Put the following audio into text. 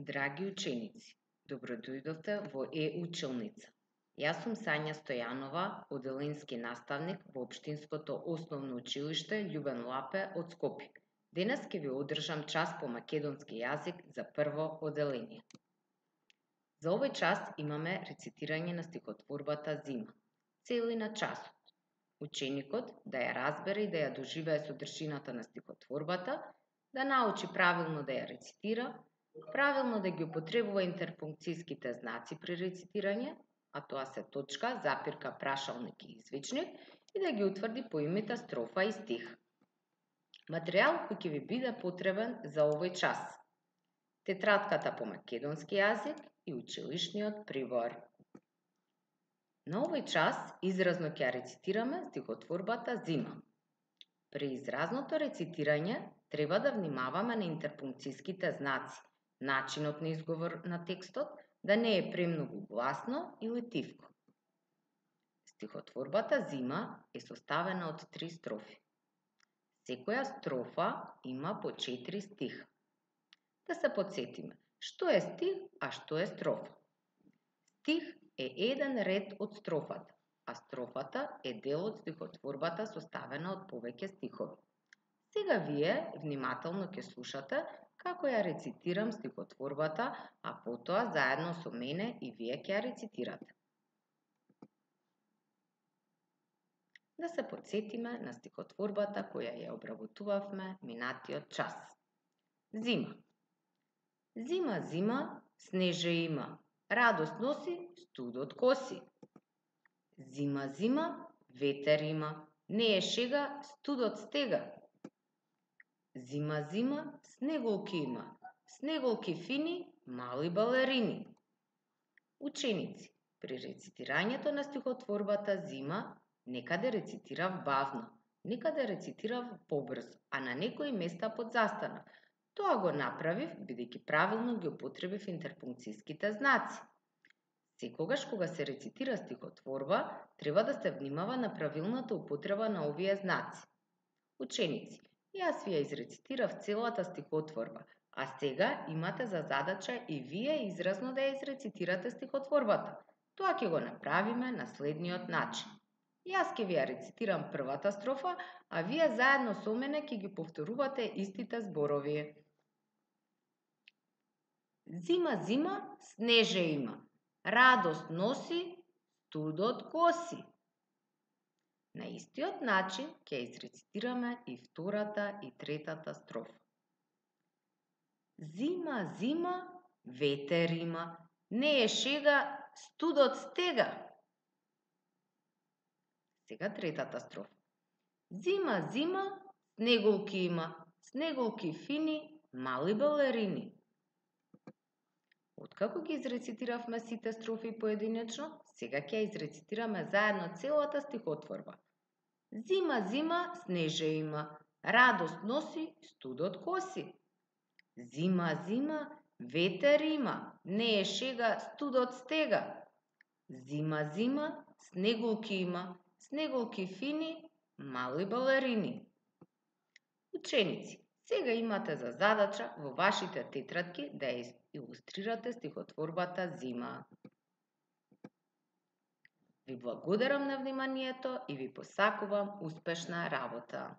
Драги ученици, добродојдовте во Е-училница. Јас сум Сања Стојанова, оделенски наставник во Општинското основно училиште Љубен Лапе од Скопје. Денес ќе ви одржам час по македонски јазик за прво оделение. За овој час имаме рецитирање на стихотворбата Зима. Цели на часот. Ученикот да ја разбере и да ја доживее содржината на стихотворбата, да научи правилно да ја рецитира, правилно да ги употребува интерпункцијските знаци при рецитирање, а тоа се точка, запирка, прашалник и извичник, и да ги утврди поимите строфа и стих. Материјал кој ќе ви биде потребен за овој час: тетратката по македонски јазик и училишниот прибор. На овој час изразно ќе ја рецитираме стихотворбата Зима. При изразното рецитирање треба да внимаваме на интерпункцијските знаци, начинот на изговор на текстот, да не е премногу гласно или тивко. Стихотворбата Зима е составена од 3 строфи. Секоја строфа има по 4 стиха. Да се потсетиме, што е стих, а што е строфа. Стих е еден ред од строфата, а строфата е дел од стихотворбата составена од повеќе стихови. Сега вие внимателно ќе слушате како ја рецитирам стихотворбата, а потоа заедно со мене и вие ќе ја рецитирате. Да се потсетиме на стихотворбата која ја обработувавме минатиот час. Зима. Зима, зима, снеже има, радост носи, студот коси. Зима, зима, ветер има, не е шега, студот стега. Зима, зима, снеголки има, снеголки фини, мали балерини. Ученици, при рецитирањето на стихотворбата Зима, некаде рецитирав бавно, некаде рецитирав побрзо, а на некои места подзастанав. Тоа го направив бидејќи правилно ги употребив интерпункцијските знаци. Секогаш кога се рецитира стихотворба, треба да се внимава на правилната употреба на овие знаци. Ученици, јас ви ја изрецитирав целата стихотворба, а сега имате за задача и вие изразно да ја изрецитирате стихотворбата. Тоа ќе го направиме на следниот начин. Јас ќе ви ја рецитирам првата строфа, а вие заедно со мене ќе ги повторувате истите зборови. Зима, зима, снеже има, радост носи, студот коси. На истиот начин ќе изрецитираме и втората и третата строфа. Зима, зима, ветер има, не е шега, студот стега. Сега третата строфа. Зима, зима, снеголки има, снеголки фини, мали балерини. Откако ги изрецитиравме сите строфи поединечно, сега ќе изрецитираме заедно целата стихотворба. Зима, зима, снеже има, радост носи, студот коси. Зима, зима, ветер има, не е шега, студот стега. Зима, зима, снеголки има, снеголки фини, мали балерини. Ученици, сега имате за задача во вашите тетрадки да ја илустрирате стихотворбата Зима. Ви благодарам на вниманието и ви посакувам успешна работа.